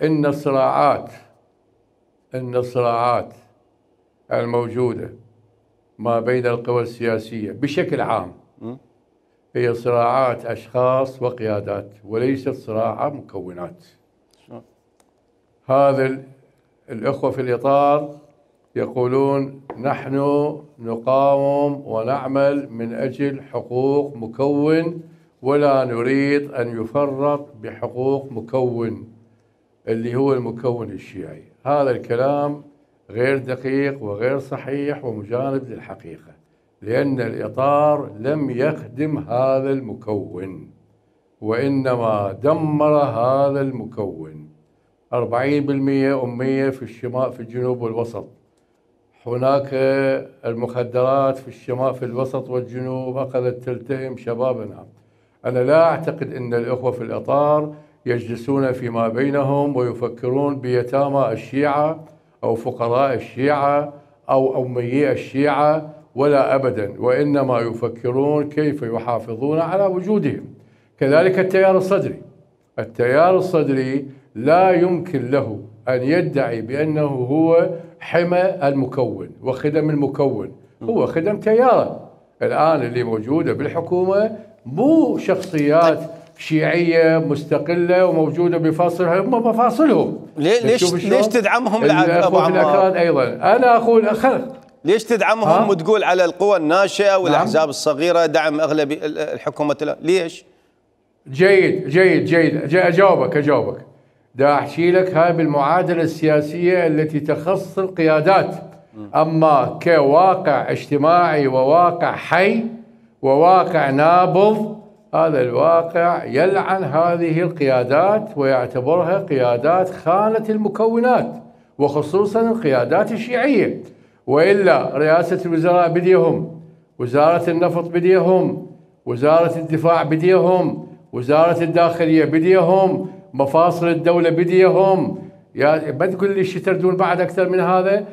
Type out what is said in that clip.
إن الصراعات الموجودة ما بين القوى السياسية بشكل عام هي صراعات أشخاص وقيادات، وليست صراع مكونات. هذا الأخوة في الإطار يقولون نحن نقاوم ونعمل من أجل حقوق مكون ولا نريد أن يفرط بحقوق مكون اللي هو المكون الشيعي. هذا الكلام غير دقيق وغير صحيح ومجانب للحقيقة، لأن الإطار لم يخدم هذا المكون وإنما دمر هذا المكون. 40% أمية في الشمال، في الجنوب والوسط. هناك المخدرات في الشمال، في الوسط والجنوب أخذت تلتهم شبابنا. أنا لا أعتقد أن الأخوة في الإطار يجلسون فيما بينهم ويفكرون بيتامى الشيعة أو فقراء الشيعة أو أميي الشيعة، ولا أبدا، وإنما يفكرون كيف يحافظون على وجودهم. كذلك التيار الصدري لا يمكن له أن يدعي بأنه هو حمى المكون وخدم المكون، هو خدم تياره. الآن اللي موجودة بالحكومة مو شخصيات شيعية مستقلة وموجودة بفاصلها، هم مفاصلهم. ليش تدعمهم أبو عمار؟ أيضا أنا أقول ليش تدعمهم وتقول على القوى الناشئة والأحزاب الصغيرة دعم أغلبي الحكومة؟ ليش؟ جيد أجاوبك. دا أحكي لك هاي بالمعادلة السياسية التي تخص القيادات، أما كواقع اجتماعي وواقع حي وواقع نابض، هذا الواقع يلعن هذه القيادات ويعتبرها قيادات خانة المكونات، وخصوصا القيادات الشيعية. وإلا رئاسة الوزراء بديهم، وزارة النفط بديهم، وزارة الدفاع بديهم، وزارة الداخلية بديهم، مفاصل الدولة بديهم. يا ما تقول لي شو تردون بعد أكثر من هذا؟